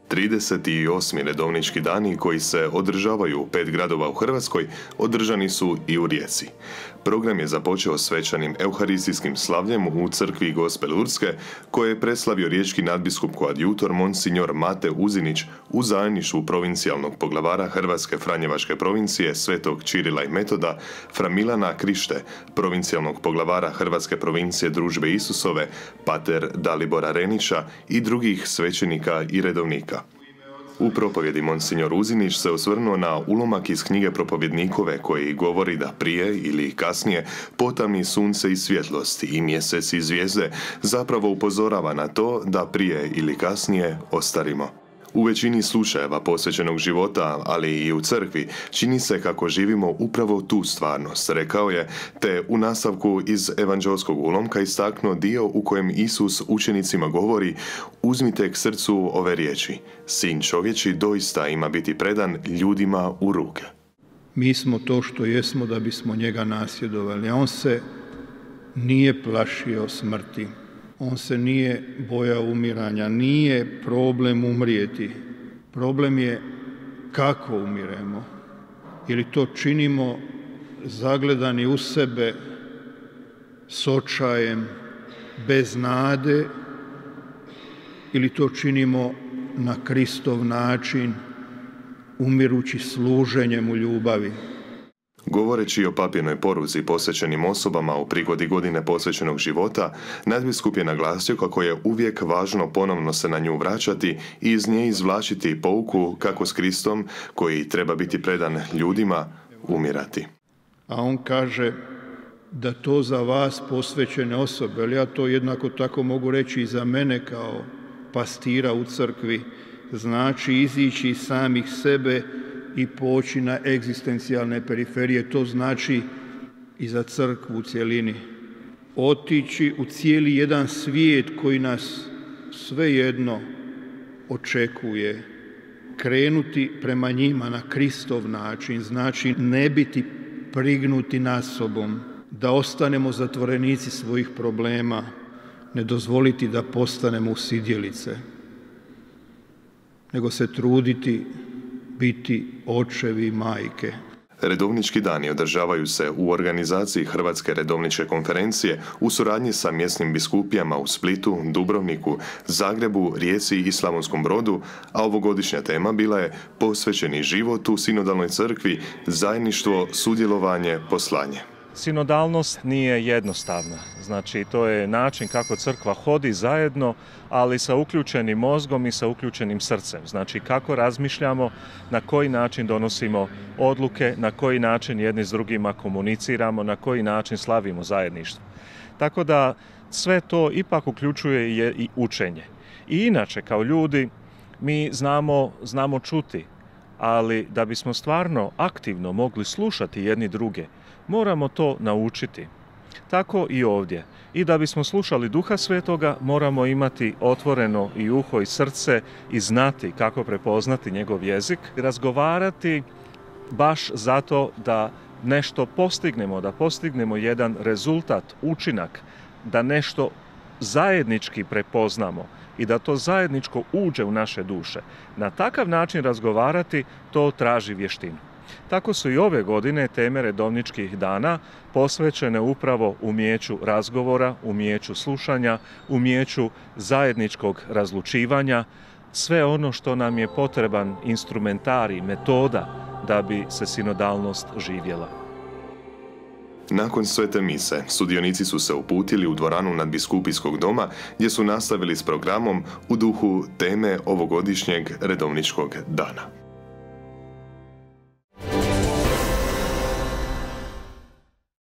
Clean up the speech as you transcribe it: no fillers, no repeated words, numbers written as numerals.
38. redovnički dani koji se održavaju u 5 gradova u Hrvatskoj održani su i u Rijeci. Program je započeo svečanim euharistijskim slavljem u crkvi Gospe Lurdske, koje je preslavio riječki nadbiskup koadjutor Monsignor Mate Uzinić u zajedništvu provincijalnog poglavara Hrvatske Franjevačke provincije Svetog Čirila i Metoda, Fra Milana Krište, provincijalnog poglavara Hrvatske provincije Družbe Isusove, pater Dalibora Renića i drugih svećenika i redovnika. U propovjedi Monsignor Uzinić se osvrnuo na ulomak iz knjige Propovjednikove koji govori da prije ili kasnije potamni sunce i svjetlost i mjesec i zvijezde zapravo upozorava na to da prije ili kasnije ostarimo. U većini slučajeva posvećenog života, ali i u crkvi, čini se kako živimo upravo tu stvarnost, rekao je, te u nastavku iz evanđelskog ulomka istaknuo dio u kojem Isus učenicima govori: uzmite k srcu ove riječi, Sin čovječi doista ima biti predan ljudima u ruke. Mi smo to što jesmo da bismo njega nasljedovali, a on se nije plašio smrti. On se nije bojao umiranja, nije problem umrijeti. Problem je kako umiremo. Ili to činimo zagledani u sebe, s očajem, bez nade, ili to činimo na Kristov način, umirući služenjem u ljubavi. Govoreći o papinoj poruzi posvećenim osobama u prigodi godine posvećenog života, nadbiskup je naglasio kako je uvijek važno ponovno se na nju vraćati i iz nje izvlačiti pouku kako s Kristom, koji treba biti predan ljudima, umirati. A on kaže da to za vas posvećene osobe, ali ja to jednako tako mogu reći i za mene kao pastira u crkvi, znači izići iz samih sebe i poći na egzistencijalne periferije, to znači i za crkvu u cjelini. Otići u cijeli jedan svijet koji nas svejedno očekuje. Krenuti prema njima na Kristov način, znači ne biti prignuti nad sobom, da ostanemo zatvorenici svojih problema, ne dozvoliti da postanemo usidjelice, nego se truditi biti očevi i majke. Redovnički dani održavaju se u organizaciji Hrvatske redovničke konferencije u suradnji sa mjesnim biskupijama u Splitu, Dubrovniku, Zagrebu, Rijeci i Slavonskom Brodu, a ovogodišnja tema bila je posvećeni život u sinodalnoj crkvi, zajedništvo, sudjelovanje, poslanje. Sinodalnost nije jednostavna, znači to je način kako crkva hodi zajedno, ali sa uključenim mozgom i sa uključenim srcem. Znači kako razmišljamo, na koji način donosimo odluke, na koji način jedni s drugima komuniciramo, na koji način slavimo zajedništvo. Tako da sve to ipak uključuje i učenje. I inače kao ljudi mi znamo čuti, ali da bismo stvarno aktivno mogli slušati jedni druge, moramo to naučiti. Tako i ovdje. I da bismo slušali Duha Svetoga, moramo imati otvoreno i uho i srce i znati kako prepoznati njegov jezik, razgovarati baš zato da nešto postignemo, da postignemo jedan rezultat, učinak, da nešto zajednički prepoznamo i da to zajedničko uđe u naše duše. Na takav način razgovarati, to traži vještinu. Tako su i ove godine teme redovničkih dana posvećene upravo umijeću razgovora, umijeću slušanja, umijeću zajedničkog razlučivanja, sve ono što nam je potreban instrumentarij, metoda da bi se sinodalnost živjela. Nakon svete mise, sudionici su se uputili u dvoranu nadbiskupijskog doma gdje su nastavili s programom u duhu teme ovogodišnjeg redovničkog dana.